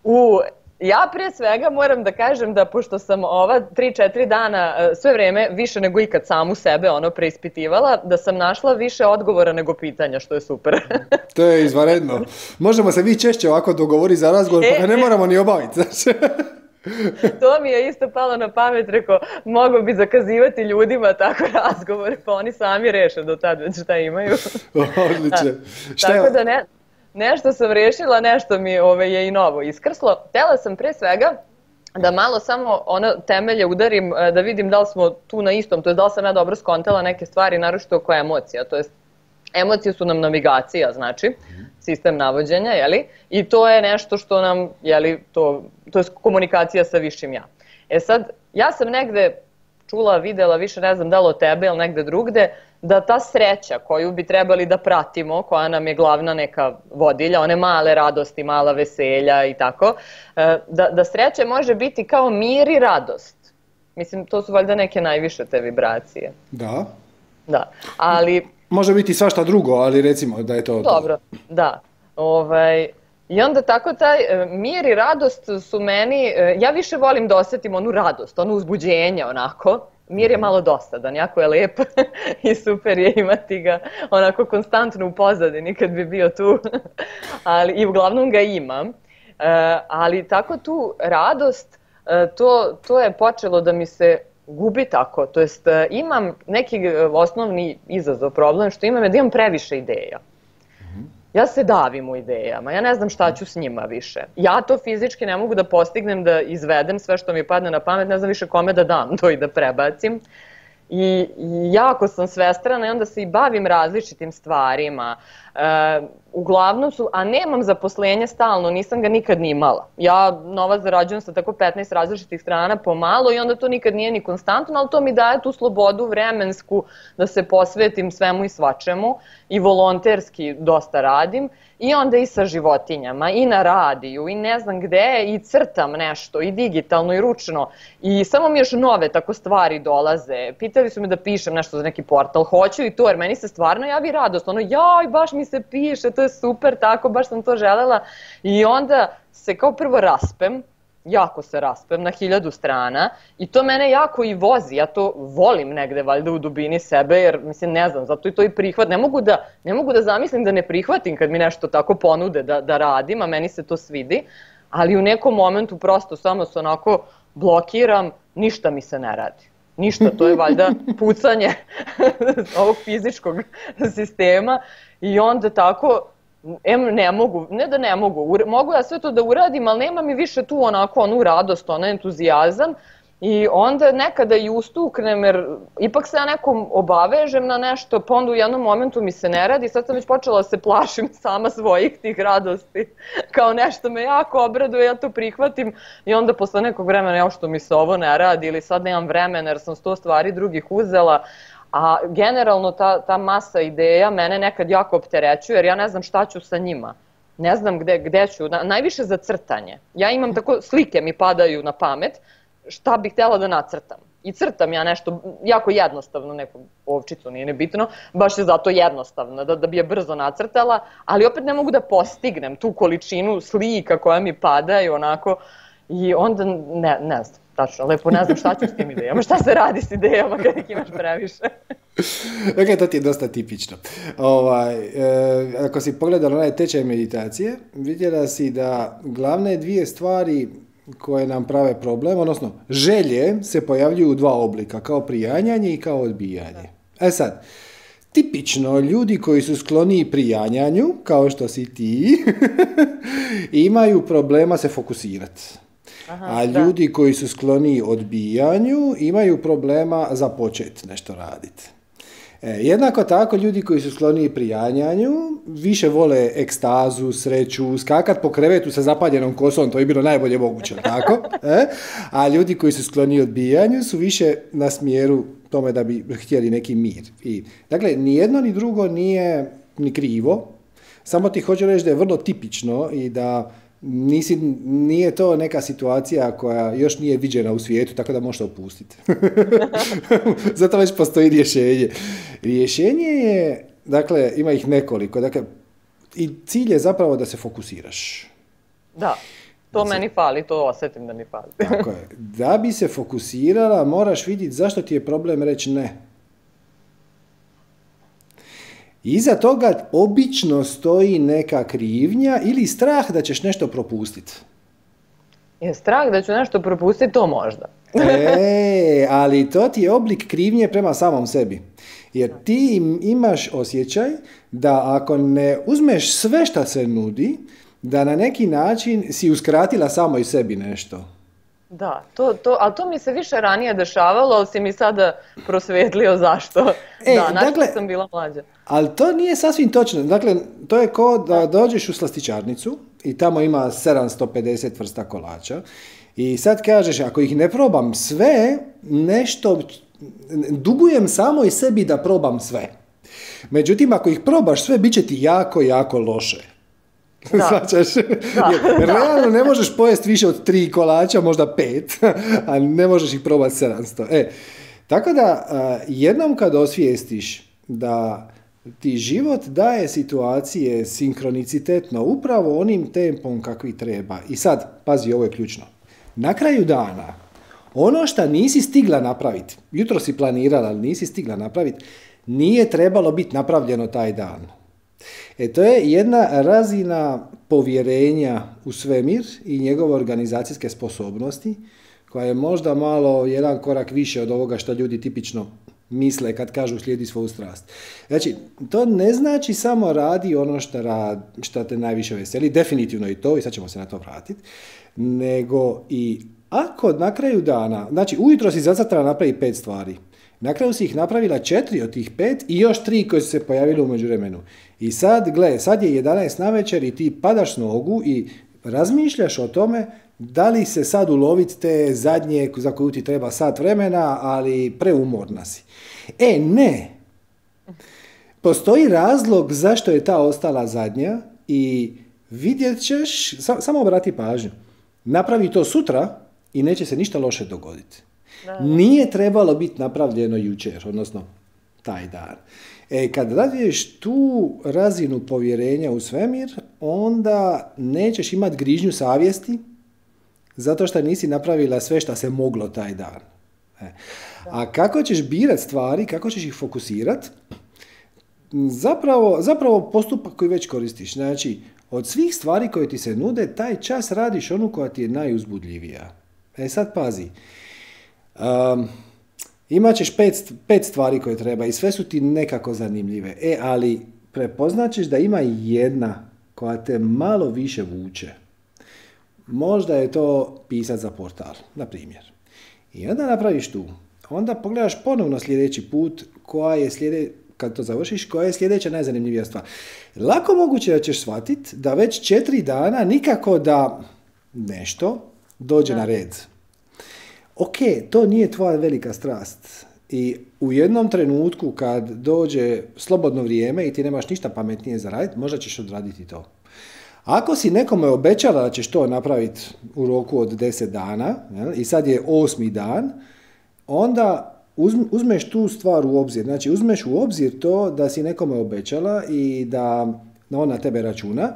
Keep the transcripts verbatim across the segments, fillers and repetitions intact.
U, ja prije svega moram da kažem da pošto sam ova tri četiri dana sve vreme više nego ikad samu sebe ono preispitivala, da sam našla više odgovora nego pitanja, što je super. To je izvanredno. Možemo se vi češće ovako dogovoriti za razgovor, pa ga ne moramo ni obaviti. To mi je isto palo na pamet, rekao, mogu bi zakazivati ljudima tako razgovore, pa oni sami reše do tad već šta imaju. Odlično. Tako da ne... Nešto sam rešila, nešto mi ove, je i novo iskrslo. Htela sam pre svega da malo samo ono temelje udarim, da vidim da li smo tu na istom, to je da li sam ja dobro skontala neke stvari, naročito oko emocija, to jest emocije su nam navigacija, znači, sistem navođenja, jeli? I to je nešto što nam, jeli, to, to je komunikacija sa višim ja. E sad, ja sam negde čula, videla, više ne znam da li od tebe ili negde drugde, da ta sreća koju bi trebali da pratimo, koja nam je glavna neka vodilja, one male radosti, mala veselja i tako, da, da sreća može biti kao mir i radost. Mislim, to su valjda neke najviše te vibracije. Da. Da, ali... Može biti svašta drugo, ali recimo da je to... Dobro, da. Ovaj... I onda tako taj mir i radost su meni, ja više volim da osetim onu radost, ono uzbuđenje onako. Mir je malo dosadan, jako je lep i super je imati ga onako konstantno u pozadini kad bi bio tu, ali, i uglavnom ga imam. Ali tako tu radost, to, to je počelo da mi se gubi tako, to jest imam neki osnovni izazov, problem što imam je da imam previše ideja. Ja se davim u idejama, ja ne znam šta ću s njima više. Ja to fizički ne mogu da postignem, da izvedem sve što mi padne na pamet, ne znam više kome da dam to i da prebacim. I jako sam svestrana i onda se i bavim različitim stvarima. E, uglavnom su, a nemam zaposlenje stalno, nisam ga nikad ni imala. Ja novac zarađujem sa tako petnaest različitih strana pomalo i onda to nikad nije ni konstantno, ali to mi daje tu slobodu vremensku da se posvetim svemu i svačemu i volonterski dosta radim. I onda i sa životinjama, i na radiju, i ne znam gde, i crtam nešto, i digitalno, i ručno. I samo mi još nove tako stvari dolaze. Pitali su me da pišem nešto za neki portal, hoću i to, jer meni se stvarno javi radost. Ono, jaj, baš mi se piše, to je super, tako, baš sam to želela. I onda se kao prvo raspem, jako se raspem na hiljadu strana i to mene jako i vozi, ja to volim negde valjda u dubini sebe jer mislim ne znam, zato i to i prihvat, ne mogu da, ne mogu da zamislim da ne prihvatim kad mi nešto tako ponude da, da radim, a meni se to svidi, ali u nekom momentu prosto samo se onako blokiram, ništa mi se ne radi. Ništa, to je valjda pucanje ovog fizičkog sistema i onda tako... Em, ne mogu, ne da ne mogu, mogu ja sve to da uradim, ali nema mi više tu onako onu radost, onaj entuzijazam i onda nekada i ustuknem jer ipak se ja nekom obavežem na nešto, pa onda u jednom momentu mi se ne radi, sad sam već počela da se plašim sama svojih tih radosti, kao nešto me jako obraduje, ja to prihvatim i onda posle nekog vremena ja što mi se ovo ne radi ili sad nemam vremena jer sam sto stvari drugih uzela. A generalno ta, ta masa ideja mene nekad jako opterećuje jer ja ne znam šta ću sa njima. Ne znam gde, gde ću, na, najviše za crtanje. Ja imam tako, slike mi padaju na pamet, šta bih htjela da nacrtam. I crtam ja nešto jako jednostavno, neku ovčicu, nije nebitno, baš je zato jednostavno, da, da bi je brzo nacrtala, ali opet ne mogu da postignem tu količinu slika koja mi padaju onako i onda ne, ne znam. Tačno, lepo, ne znam šta ću s tim idejama, šta se radi s idejama kada ih imaš previše. Ok, to ti je dosta tipično. Ovaj, e, ako si pogledala onaj tečaj meditacije, vidjela si da glavne dvije stvari koje nam prave problem, odnosno želje se pojavljuju u dva oblika, kao prijanjanje i kao odbijanje. E sad, tipično ljudi koji su skloniji prijanjanju, kao što si ti, imaju problema se fokusirati. Aha, a ljudi da. Koji su skloni odbijanju imaju problema započeti nešto raditi. E, jednako tako ljudi koji su skloni prijanjanju više vole ekstazu, sreću, skakat po krevetu sa zapaljenom kosom, to je bilo najbolje moguće, tako? E? A ljudi koji su skloni odbijanju su više na smjeru tome da bi htjeli neki mir. I, dakle, ni jedno ni drugo nije ni krivo, samo ti hoću reći da je vrlo tipično i da Nisi, nije to neka situacija koja još nije viđena u svijetu, tako da možete opustiti. Zato već postoji rješenje. Rješenje je, dakle, ima ih nekoliko, dakle, i cilj je zapravo da se fokusiraš. Da. To meni fali, to osjetim da mi fali. Tako je. Da bi se fokusirala, moraš vidjeti zašto ti je problem reći ne. Iza toga obično stoji neka krivnja ili strah da ćeš nešto propustiti. Je strah da ću nešto propustiti, to možda. E, ali to ti je oblik krivnje prema samom sebi. Jer ti imaš osjećaj da ako ne uzmeš sve što se nudi, da na neki način si uskratila samo i sebi nešto. Da, to, to, ali to mi se više ranije dešavalo, ali si mi sada prosvetlio zašto. E, da, znači dakle, sam bila mlađa. Ali to nije sasvim točno. Dakle, to je kao da dođeš u slastičarnicu i tamo ima sedamsto pedeset vrsta kolača i sad kažeš, ako ih ne probam sve, nešto dugujem samo i sebi da probam sve. Međutim, ako ih probaš sve, bit će ti jako, jako loše. Svačaš? Realno ne možeš pojesti više od tri kolača, možda pet, a ne možeš ih probati sedamsto. E, tako da, jednom kad osvijestiš da ti život daje situacije sinkronicitetno upravo onim tempom kakvi treba. I sad, pazi, ovo je ključno. Na kraju dana, ono što nisi stigla napraviti, jutro si planirala, ali nisi stigla napraviti, nije trebalo biti napravljeno taj dan. E, to je jedna razina povjerenja u svemir i njegove organizacijske sposobnosti, koja je možda malo jedan korak više od ovoga što ljudi tipično misle kad kažu slijedi svoju strast. Znači, to ne znači samo radi ono što, rad, što te najviše veseli, definitivno i to, i sad ćemo se na to vratiti, nego i ako na kraju dana, znači ujutro si zacrtala napraviti pet stvari, na kraju si ih napravila četiri od tih pet i još tri koje su se pojavile u međuvremenu. I sad, gle, sad je jedanaest navečer i ti padaš s nogu i razmišljaš o tome da li se sad uloviti te zadnje za koju ti treba sat vremena, ali preumorna si. E, ne. Postoji razlog zašto je ta ostala zadnja i vidjet ćeš, sam, samo obrati pažnju, napravi to sutra i neće se ništa loše dogoditi. Da. Nije trebalo biti napravljeno jučer, odnosno taj dan. E, kad razviješ tu razinu povjerenja u svemir, onda nećeš imati grižnju savjesti zato što nisi napravila sve što se moglo taj dan. E. A kako ćeš birati stvari, kako ćeš ih fokusirati, zapravo, zapravo postupak koji već koristiš. Znači, od svih stvari koje ti se nude, taj čas radiš onu koja ti je najuzbudljivija. E sad pazi, um, imat ćeš pet, pet stvari koje treba i sve su ti nekako zanimljive. E, ali prepoznaćeš da ima jedna koja te malo više vuče. Možda je to pisat za portal, na primjer. I onda napraviš tu. Onda pogledaš ponovno sljedeći put koja je sljedeća, kad to završiš, koja je sljedeća najzanimljivija stvar. Lako moguće da ćeš shvatiti da već četiri dana nikako da nešto dođe da. na red. Ok, to nije tvoja velika strast. I u jednom trenutku kad dođe slobodno vrijeme i ti nemaš ništa pametnije za raditi, možda ćeš odraditi to. Ako si nekome obećala da ćeš to napraviti u roku od deset dana, jel, i sad je osmi dan, onda uzmeš tu stvar u obzir. Znači, uzmeš u obzir to da si nekome obećala i da on na tebe računa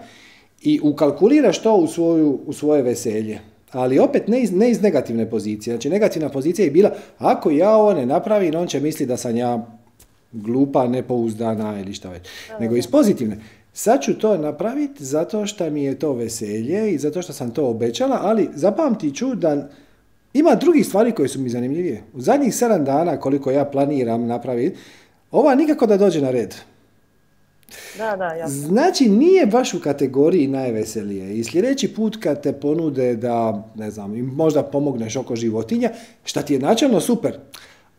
i ukalkuliraš to u, svoju, u svoje veselje. Ali opet ne iz, ne iz negativne pozicije. Znači, negativna pozicija je bila, ako ja ovo ne napravim, on će misli da sam ja glupa, nepouzdana ili šta već. Nego iz pozitivne. Sad ću to napraviti zato što mi je to veselje i zato što sam to obećala, ali zapamtit ću da ima drugih stvari koje su mi zanimljivije. U zadnjih sedam dana, koliko ja planiram napraviti, ova nikako da dođe na red. Da, da, jasno. Znači, nije baš u kategoriji najveselije. I sljedeći put kad te ponude da, ne znam, možda pomogneš oko životinja, šta ti je načelno super,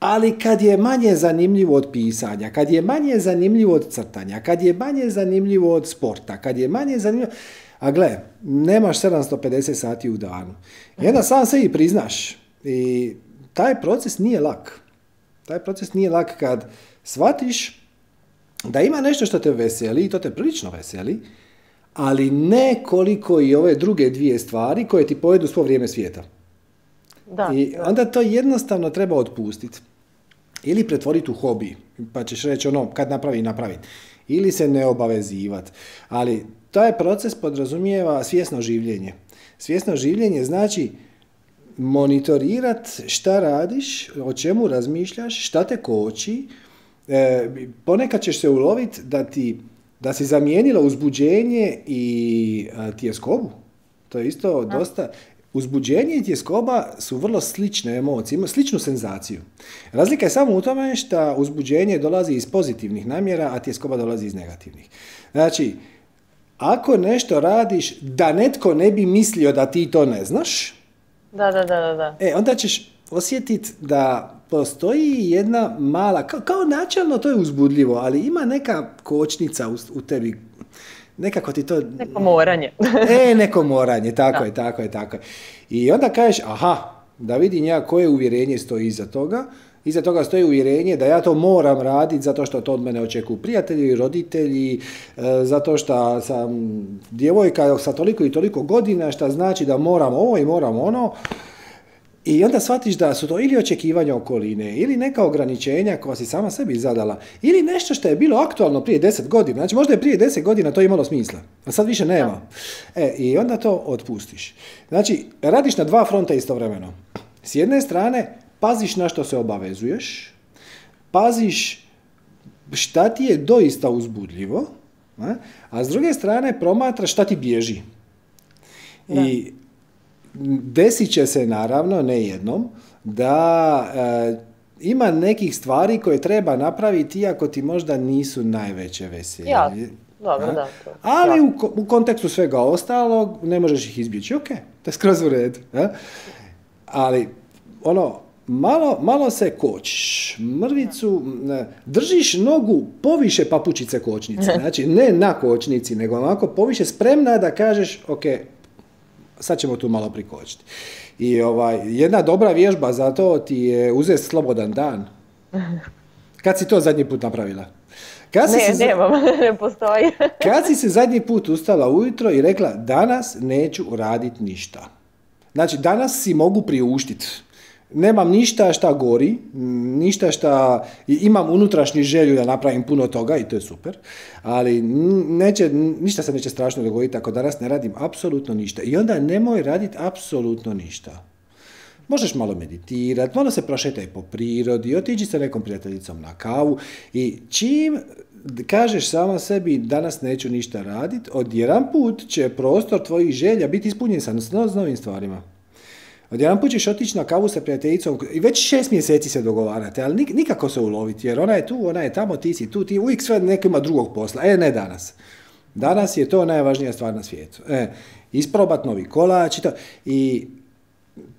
ali kad je manje zanimljivo od pisanja, kad je manje zanimljivo od crtanja, kad je manje zanimljivo od sporta, kad je manje zanimljivo... A gle, nemaš sedamsto pedeset sati u danu. I onda sam se i priznaš. I taj proces nije lak. Taj proces nije lak kad shvatiš da ima nešto što te veseli, i to te prilično veseli, ali ne koliko i ove druge dvije stvari koje ti pojedu svo vrijeme svijeta. Da, I onda to jednostavno treba otpustiti. Ili pretvoriti u hobi, pa ćeš reći ono, kad napravi, napravi. Ili se ne obavezivati. Ali taj proces podrazumijeva svjesno življenje. Svjesno življenje znači monitorirat šta radiš, o čemu razmišljaš, šta te koči. E, ponekad ćeš se uloviti da ti da si zamijenila uzbuđenje i a, tjeskobu. To je isto dosta... Uzbuđenje i tjeskoba su vrlo slične emocije, imaju sličnu senzaciju. Razlika je samo u tome što uzbuđenje dolazi iz pozitivnih namjera, a tjeskoba dolazi iz negativnih. Znači, ako nešto radiš da netko ne bi mislio da ti to ne znaš, da, da, da, da, da. E, onda ćeš osjetiti da postoji jedna mala, kao, kao načelno to je uzbudljivo, ali ima neka kočnica u, u tebi. Nekako ti to... Neko moranje. e, neko moranje, tako da. je, tako je, tako je. I onda kažeš, aha, da vidim ja koje uvjerenje stoji iza toga. Iza toga stoji uvjerenje da ja to moram raditi zato što to od mene očekuju prijatelji, roditelji, e, zato što sam djevojka sa toliko i toliko godina, što znači da moram ovo i moram ono. I onda shvatiš da su to ili očekivanja okoline, ili neka ograničenja koja si sama sebi zadala, ili nešto što je bilo aktualno prije deset godina. Znači možda je prije deset godina to imalo smisla, a sad više nema. E, i onda to otpustiš. Znači, radiš na dva fronta istovremeno. S jedne strane, paziš na što se obavezuješ, paziš šta ti je doista uzbudljivo, a s druge strane promatraš šta ti bježi. Da. I desit će se, naravno, ne jednom, da e, ima nekih stvari koje treba napraviti iako ti možda nisu najveće veselje. Ja, dobro, da. To. Ali ja. u, u kontekstu svega ostalog ne možeš ih izbjeći. Ok, to je skroz u redu. A? Ali, ono, malo, malo se kočiš, mrvicu, ne, držiš nogu poviše papučice kočnice. Znači, ne na kočnici, nego onako poviše, spremna da kažeš, ok, sad ćemo tu malo prikočiti. I ovaj, jedna dobra vježba za to ti je uzeti slobodan dan. Kad si to zadnji put napravila? Kad ne, se, nemam, ne postoji. Kad si se zadnji put ustala ujutro i rekla, danas neću raditi ništa. Znači, danas si mogu priuštiti. Nemam ništa šta gori, ništa šta, imam unutrašnju želju da napravim puno toga i to je super, ali neće, ništa se neće strašno dogoditi ako danas ne radim apsolutno ništa. I onda nemoj raditi apsolutno ništa. Možeš malo meditirati, malo se prošetaj po prirodi, otiđi sa nekom prijateljicom na kavu i čim kažeš sama sebi danas neću ništa raditi, odjedan put će prostor tvojih želja biti ispunjen sa s novim stvarima. Odjedan put ćeš otići na kavu sa prijateljicom i već šest mjeseci se dogovarate, ali nikako se uloviti, jer ona je tu, ona je tamo, ti si tu, ti uvijek sve neko ima drugog posla. E, ne danas. Danas je to najvažnija stvar na svijetu. E, isprobat novi kolač i to. I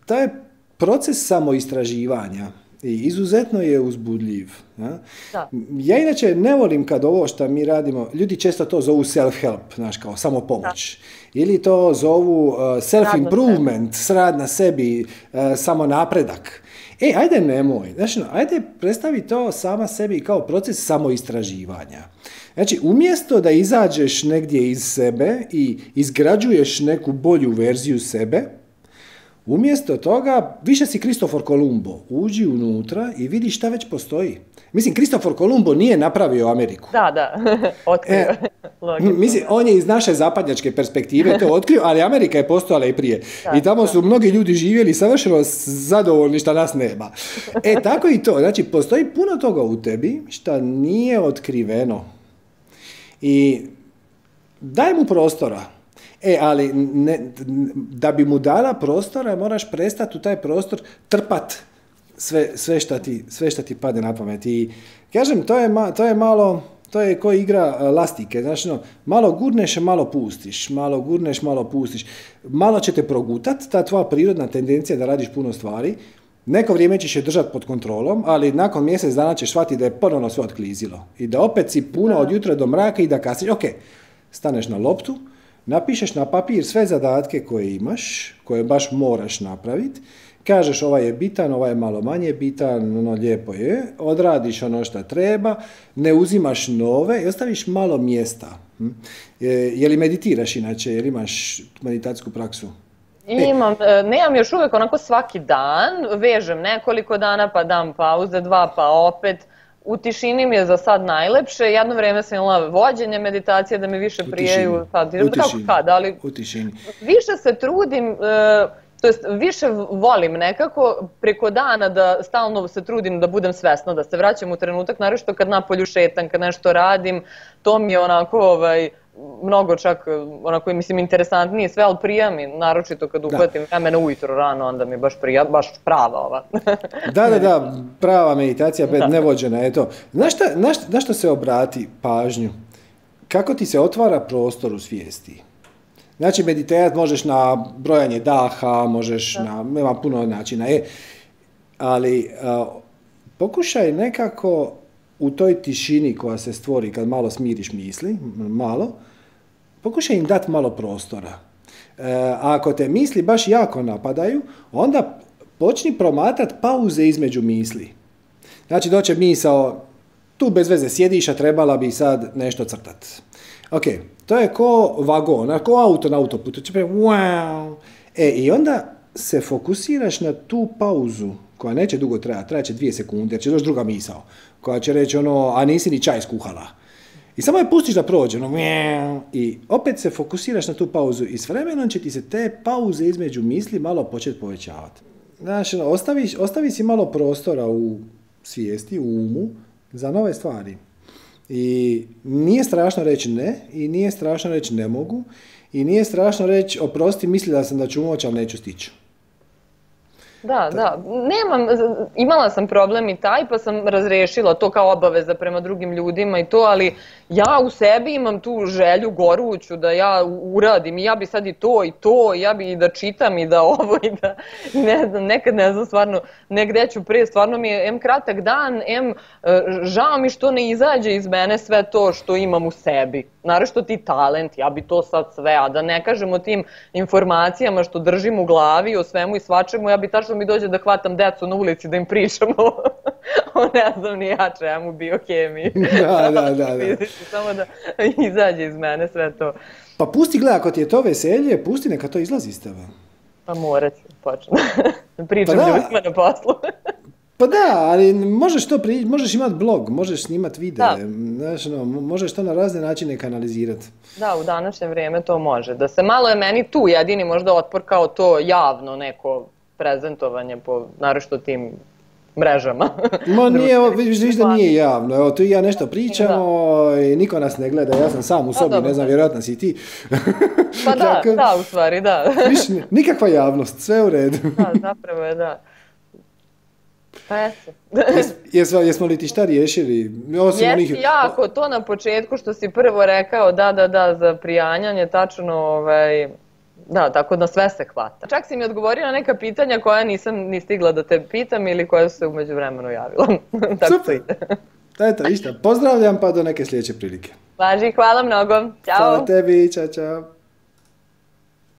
to je proces samoistraživanja i izuzetno je uzbudljiv. Ja? Da. Ja inače ne volim kad ovo što mi radimo, ljudi često to zovu self-help, znaš, kao samopomoć. Da. Ili to zovu uh, self-improvement, rad na sebi, uh, samo napredak. E, ajde nemoj, znači, no, ajde predstavi to sama sebi kao proces samoistraživanja. Znači, umjesto da izađeš negdje iz sebe i izgrađuješ neku bolju verziju sebe, umjesto toga, više si Kristofor Kolumbo, uđi unutra i vidi šta već postoji. Mislim, Kristofor Kolumbo nije napravio Ameriku. Da, da, otkrio. E, mislim, on je iz naše zapadnjačke perspektive to otkrio, ali Amerika je postojala i prije. Da, I tamo su da. mnogi ljudi živjeli savršeno zadovoljni šta nas nema. E, tako i to. Znači, postoji puno toga u tebi šta nije otkriveno. I daj mu prostora. E, ali ne, da bi mu dala prostora, moraš prestati u taj prostor trpat sve, sve, šta ti, sve šta ti padne na pamet. I kažem, to je, ma, to je malo, to je ko igra lastike. Znači, no, malo gurneš, malo pustiš. Malo gurneš, malo pustiš. Malo će te progutat, ta tvoja prirodna tendencija da radiš puno stvari. Neko vrijeme ćeš je držati pod kontrolom, ali nakon mjesec dana ćeš shvatiti da je ponovno sve otklizilo. I da opet si puno od jutra do mraka i da kasniš. Ok, staneš na loptu, napišeš na papir sve zadatke koje imaš, koje baš moraš napraviti, kažeš ovaj je bitan, ovaj je malo manje bitan, ono lijepo je, odradiš ono što treba, ne uzimaš nove i ostaviš malo mjesta. Je, je li meditiraš inače, je li imaš meditacijsku praksu? Imam, e. nemam još uvijek onako svaki dan, vežem nekoliko dana pa dam pauze, dva pa opet, u tišini mi je za sad najlepše. Jedno vreme sam imala vođenje meditacije da me više prijaju. Sad, u kako kad, ali u tišini. Više se trudim, e, to jest više volim nekako preko dana da stalno se trudim da budem svesna, da se vraćam u trenutak, naročito kad napolju šetam, kad nešto radim, to mi je onako ovaj, mnogo čak, onako mislim interesantnije sve, ali prija mi, naročito kad uhvatim vremena ujutro rano, onda mi baš prija, baš prava ova. Da, da, da, prava meditacija, da. Nevođena je to. Znaš šta, na, šta, na što se obrati pažnju? Kako ti se otvara prostor u svijesti? Znači, meditirati možeš na brojanje daha, možeš da. na, nema puno načina, e, ali a, pokušaj nekako u toj tišini koja se stvori kad malo smiriš misli, malo, pokušaj im dati malo prostora. E, a ako te misli baš jako napadaju, onda počni promatrati pauze između misli. Znači, doće misao, tu bez veze sjediš, a trebala bi sad nešto crtati. Ok, to je ko vagon, ko auto na autoputu. Wow. E, i onda se fokusiraš na tu pauzu, koja neće dugo trajati, trajaće dvije sekunde, jer će doći druga misao, koja će reći ono, a nisi ni čaj skuhala. I samo je pustiš da prođe, ono, i opet se fokusiraš na tu pauzu i s vremenom će ti se te pauze između misli malo početi povećavati. Znači, ostavi, ostavi si malo prostora u svijesti, u umu, za nove stvari. I nije strašno reći ne, i nije strašno reći ne mogu, i nije strašno reći oprosti, mislila sam da ću moći, ali neću stići. Da, da, nemam, imala sam problem i taj, pa sam razrešila to kao obaveza prema drugim ljudima i to, ali ja u sebi imam tu želju goruću da ja uradim i ja bi sad i to i to, i ja bi i da čitam i da ovo i da, ne znam, nekad ne znam stvarno, negde ću prije, stvarno mi je em kratak dan, em žao mi što ne izađe iz mene sve to što imam u sebi. Naravno ti talent, ja bi to sad sve, a da ne kažem o tim informacijama što držim u glavi, o svemu i svačemu, ja bi tačno mi dođe da hvatam decu na ulici da im pričam o, o ne znam ni ja čemu, biohemiji. Da, da, da, da. Samo da izađe iz mene sve to. Pa pusti, gledaj, ako ti je to veselje, pusti neka to izlazi iz tebe. Pa morat ću, počnem. Pričam pa ljudima na poslu. Pa da, ali možeš to pri... možeš imati blog, možeš snimati videe, znaš, no, možeš to na razne načine kanalizirati. Da, u današnje vrijeme to može. Da se malo je meni tu jedini možda otpor kao to javno neko prezentovanje po naročito tim mrežama. Ma nije, vidiš da nije javno, evo tu i ja nešto pričamo i niko nas ne gleda, ja sam sam u sobi, ne znam, vjerojatno si ti. Pa da, Tako, da, u stvari, da. Viš, nikakva javnost, sve u redu. Da, zapravo je, da. Pa eto. Jesmo, jesmo li ti šta riješili? Jesi onih... jako, to na početku što si prvo rekao, da, da, da, za prijanjanje, tačno, ovaj, da, tako da sve se hvata. Čak si mi odgovorio na neka pitanja koja nisam ni stigla da te pitam ili koja su se u međuvremenu javila. Super, eto, išta, pozdravljam pa do neke sljedeće prilike. Važi, hvala mnogo, ćao. Hvala tebi, čao, čao.